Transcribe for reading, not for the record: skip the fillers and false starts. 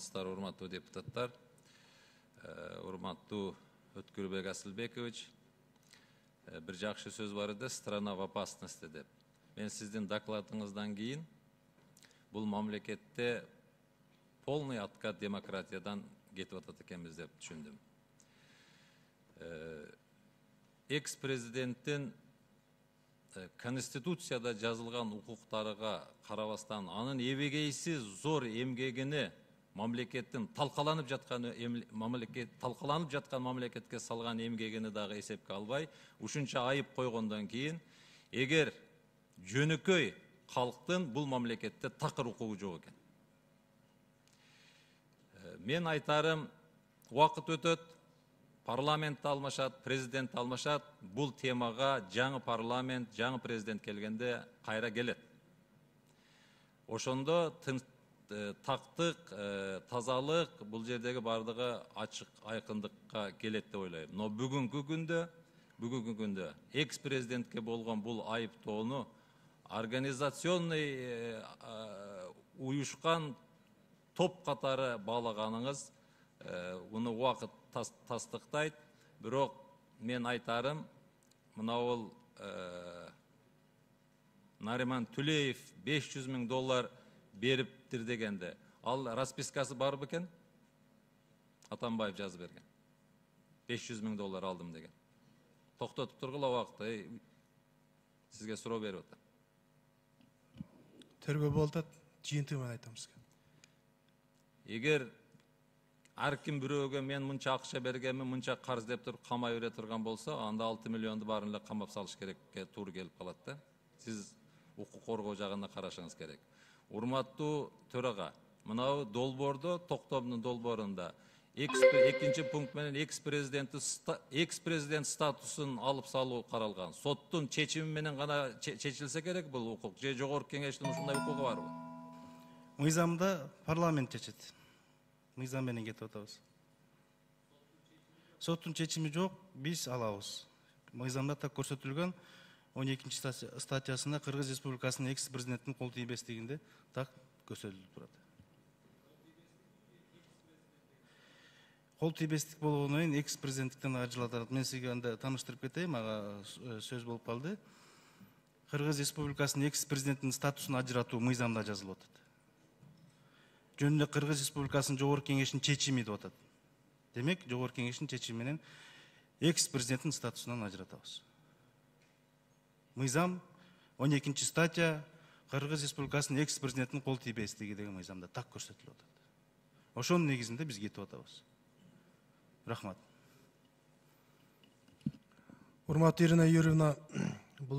саламатсыздар, урматтуу депутаттар. Урматтуу Өткүлбек Асылбекович, бир жакшы сөз бар эди, страна в опасности деп. Мен сиздин докладыңыздан кийин бул мамлекетте полный откат демократиядан кетип атат экенбиз деп түшүндүм. Экс-президенттин Конституцияда жазылган укуктарга карабастан анын эбегейсиз зор эмгегини мамлекеттин талкаланып жаткан мамлекетке салган эмгегини дагы эсепке албай, ушунча айып койгондон кийин, эгер жөнөкөй калктын бул мамлекетте такыр укугу жок экен. Мен айтарым, убакыт өтөт, парламент алмашат, президент алмашат, бул темага жаңы парламент, жаңы президент келгенде кайра келет. Ошондо тактык, тазалык, бул жердеги бардыгы ачык айкындыкка келет деп ойлойм. Но бүгүнкү күндө экс-президентке болгон бул айыптоону организационный уюшкан топ катары баалаганыңыз уну убакыт тастыктайт. Бирок мен айтарым, мына Нариман Түлеев $500 000 бериптир дегенде, ал распискасы бар бекен? Атамбаев жазып берген. $500 000 алдым деген. Токтотуп тургула убакытты, сизге суроо берип атам. Тергөө болуп атат, жыйынтыгы менен айтам сизге. Эгер ар ким бирөөгө мен мынча акча бергенмин, мынча карыз деп туруп камай бере турган болсо, анда 6 миллионду баарын эле камап салыш керекке туура келип калат да. Сиз укук коргоо жагына карашыңыз керек. Урматтуу төрага, мынау долбоордо, токтомдун долбоорунда экинчи пункт менен экс-президент статусун алып салуу каралган. Соттун чечими менен гана чечилсе керек бул укук. Же жогорку кеңештин ушундай укугу барбы? Мыйзамда парламент чечет. Мыйзам менен кетип атабыз. Соттун чечими жок, биз алабыз. Мыйзамда так көрсөтүлгөн 12 статьясында Кыргыз Республикасынын экс-президенттин кол тийбестигинде так көрсөтүлүп турат. Кол тийбестик болгондон кийин экс-президенттиктен ажыратат. Мен сизге анда тааныштырып кетейин, ага сөз болуп калды. Кыргыз Республикасынын экс-президенттин статусун ажыратуу мыйзамда жазылып атат. Жөнүндө Кыргыз Республикасынын жогорку кеңешинин чечими деп атат. Демек, жогорку кеңештин чечими менен экс-президенттин статусунан ажыратабыз. Мыйзам 12 статья Кыргыз Республикасынын экс-президенттин кол тийбестиги деген мыйзамда так көрсөтүлүп атат. Ошонун негизинде биз кетип атабыз. Рахмат. Урматтуу Ирина Юрьевна,